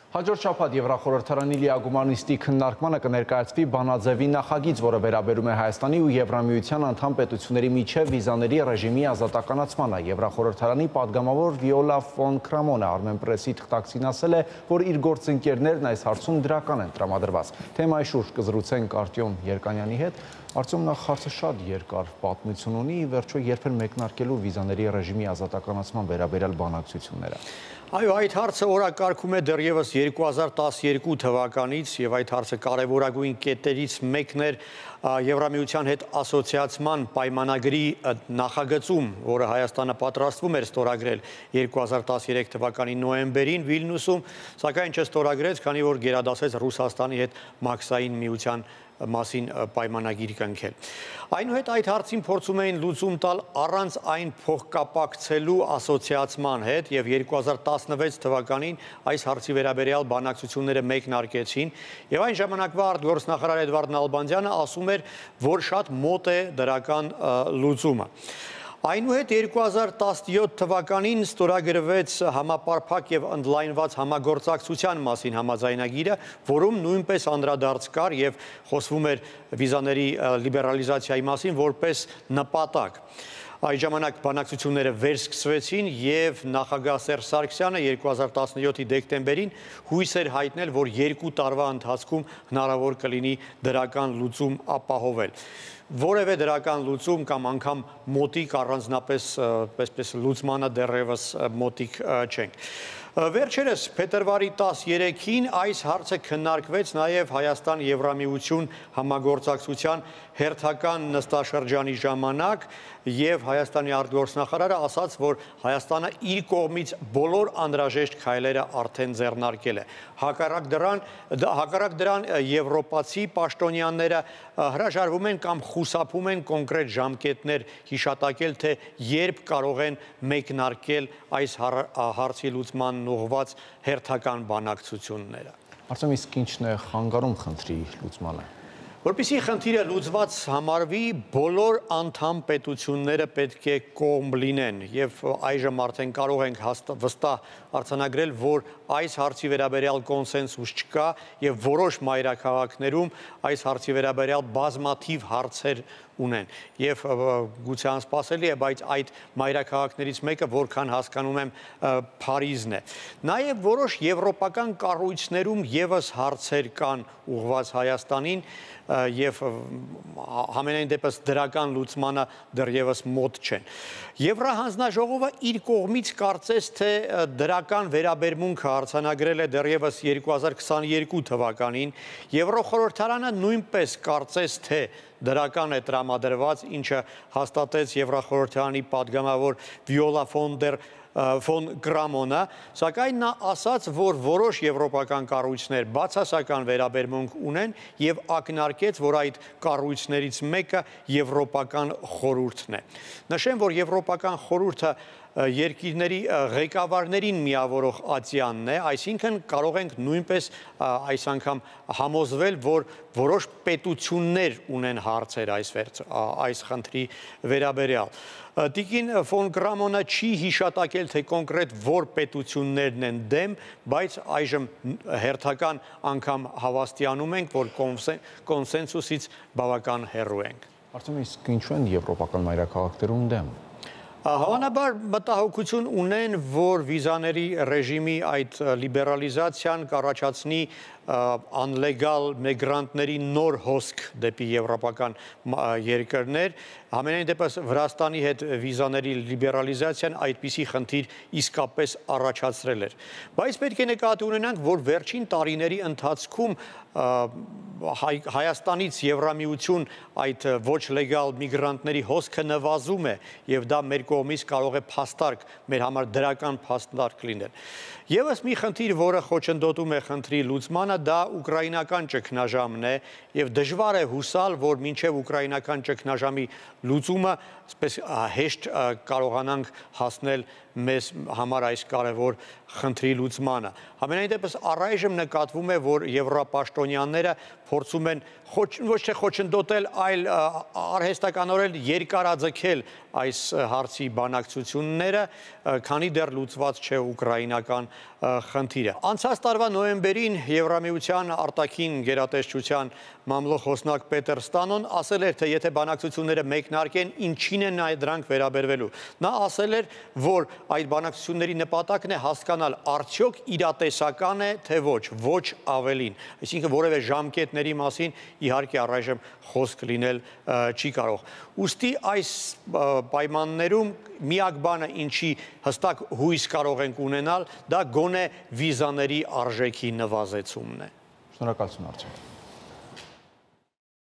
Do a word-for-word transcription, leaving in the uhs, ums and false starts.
Հաջորդ շաբաթ Եվրախորհրդարանի լիագումար նիստի քննարկմանը կներկայացվի բանաձևի նախագիծ, որը վերաբերում է Հայաստանի ու Եվրամիության անդամ պետությունների միջև վիզաների ռեժիմի ազատականացմանը։ Եվրախորհրդարանի падգամավոր Վիոլա ֆոն Կրամոնը Armenpress-ի թղթակցին ասել է, որ իր գործընկերներն այս հարցում դրական են տրամադրված։ Թեմայի շուրջ կզրուցենք Արտյոմ Երկանյանի հետ։ Արտյոմ, նախ հարցը շատ երկար պատմություն ունի, վերջո երբեր մեկնարկելու վիզաների ռեժիմի ազատականացման վերաբերյալ բանակցությունները։ Այո, այդ հարցը օրակարգում է դեռևս երկու հազար տասներկու թվականից եւ այդ հարցը կարևորագույն կետերից մեկն էր Եվրամիության հետ ասոցիացման պայմանագրի նախագծում, որը Հայաստանը պատրաստվում էր ստորագրել երկու հազար տասներեք թվականի նոյեմբերին Վիլնյուսում, սակայն չստորագրեց, քանի որ գերադասեց Ռուսաստանի հետ մաքսային միության մասին պայմանագիր կնքել։ Այնուհետ այդ հարցին փորձում էին լուծում տալ առանց այն փոխկապակցելու ասոցիացման հետ եւ երկու հազար տասնվեց թվականին այս հարցի վերաբերյալ բանակցությունները մեկնարկեցին եւ այն ժամանակվա արտգործնախարար Էդվարդ Նալբանդյանը ասում էր, որ շատ մոտ է դրական լուծումը։ Այնուհետ երկու հազար տասնյոթ թվականին ստորագրվեց համապարփակ եւ ընդլայնված համագործակցության մասին համաձայնագիրը, որում նույնպես անդրադարձ կար եւ խոսվում էր վիզաների լիբերալիզացիայի մասին որպես նպատակ։ Այդ ժամանակ բանակցությունները վերսկսվեցին եւ նախագահ Սերժ Սարգսյանը երկու հազար տասնյոթի դեկտեմբերին հույս էր հայտնել, որ երկու տարվա ընթացքում հնարավոր կլինի դրական լուծում ապահովել։ Որևէ դրական լուծում կամ անգամ մոտիկ առանձնապես պես լուծմանը դեռևս մոտիկ չենք։ Վերջերս փետրվարի տասներեքին այս հարցը քննարկվեց նաև Հայաստան-Եվրամիություն համագործակցության հերթական նստաշրջանի ժամանակ եւ Հայաստանի արտգործնախարարը ասաց, որ Հայաստանը իր կողմից բոլոր անհրաժեշտ քայլերը արդեն ձեռնարկել է։ Հակառակ դրան, հակառակ դրան եվրոպացի պաշտոնյաները հրաժարվում են կամ խուսափում են կոնկրետ ժամկետներ հիշատակել, թե երբ կարող են մեկնարկել այս հարցի լուծման ուղղված հերթական բանակցությունները։ Արտյոմ, իսկ ինչն է խանգարում խնդրի լուծմանը։ Որպեսզի խնդիրը լուծված համարվի, բոլոր անդամ պետությունները պետք է կողմ լինեն եւ այժմ արդեն կարող ենք վստահ արձանագրել, որ այս հարցի վերաբերյալ կոնսենսուս չկա եւ որոշ մայրաքաղաքներում այս հարցի վերաբերյալ բազմաթիվ հարցեր ունեն եւ գուցե անսպասելի է, բայց այդ մայրաքաղաքներից մեկը, որքան հասկանում եմ, Փարիզն է։ Նաեւ որոշ եվրոպական կառույցներում եւս հարցեր կան ուղղված Հայաստանին եւ համենայն դեպս դրական լուծմանը դեռևս մոտ չեն։ Եվրահանձնաժողովը իր կողմից կարծես թե դրական վերաբերմունքը արձանագրել է դեռևս երկու հազար քսաներկու թվականին, Եվրոխորհրդարանը նույնպես կարծես թե դրական է տրամադրված, ինչը հաստատեց Եվրախորհրդարանի падգամավոր Վիոլա ֆոն Կրամոնը, սակայն նա ասաց, որ որոշ եվրոպական կառույցներ բացասական վերաբերմունք ունեն եւ ակնարկեց, որ այդ կառույցներից մեկը Եվրոպական խորհուրդն է։ Նշեմ, որ Եվրոպական խորհուրդը երկիրների ղեկավարներին միավորող ատյանն է, այսինքն կարող ենք նույնպես այս անգամ համոզվել, որ որոշ պետություններ ունեն հարցեր այս, այս խնդրի վերաբերյալ։ Տիկին ֆոն Կրամոնը չի հիշատակել, թե կոնկրետ որ պետություններն են դեմ, բայց այժմ հերթական անգամ հավաստիանում ենք, որ կոնսենսուսից բավական հեռու ենք։ Արտյոմ, իսկ ինչու են եվրոպական մայրաքաղաքներում դեմ։ Հավանաբար մտահոգություն ունեն, որ վիզաների ռեժիմի այդ լիբերալիզացիան կառաջացնի անլեգալ միգրանտների նոր հոսք դեպի եվրոպական երկրներ, համենայն դեպս Վրաստանի հետ վիզաների լիբերալիզացիան այդպիսի խնդիր իսկապես առաջացրել էր։ Բայց պետք է նկատի ունենանք, որ վերջին տարիների ընթացքում Հայաստանից Եվրամիություն այդ ոչ լեգալ միգրանտների հոսքը նվազում է եւ դա մեր կողմից կարող է փաստարկ, մեր համար դրական փաստարկ լինել։ Եվս մի խնդիր, որը խոչընդոտում է խնդրի լուծմանը, դա ուկրաինական ճգնաժամն է եւ դժվար է հուսալ, որ մինչեւ ուկրաինական ճգնաժամի լուծումը այսպես հեշտ կարողանանք հասնել մեզ համար այս կարևոր խնդրի լուծմանը։ Համենայն դեպս առայժմ նկատվում է, որ եվրոպաշտոնյաները փորձում են ոչ թե խոչընդոտել, այլ արհեստականորեն երկարաձգել այս հարցի բանակցությունները, քանի դեռ լուծված չէ ուկրաինական խնդիրը։ Անցած տարվա նոյեմբերին Եվրամիության արտաքին գերատեսչության մամլոք խոսնակ Պետեր Ստանոն ասել էր, թե եթե բանակցությունները մեկնարկեն, ինչին են դրանք վերաբերվելու։ Նա ասել էր, որ այդ բանակցությունների նպատակն է հասկանալ արդյոք իրատեսական է, թե ոչ, ոչ ավելին։ Այսինքն որևէ ժամկետների մասին իհարկե առայժմ խոսք լինել չի կարող։ Ուստի այս պայմաններում միակ բանը, ինչի հստակ հույս կարող ենք ունենալ, դա գոնե վիզաների արժեքի նվազեցումն է։ Շնորհակալություն, Արտյոմ։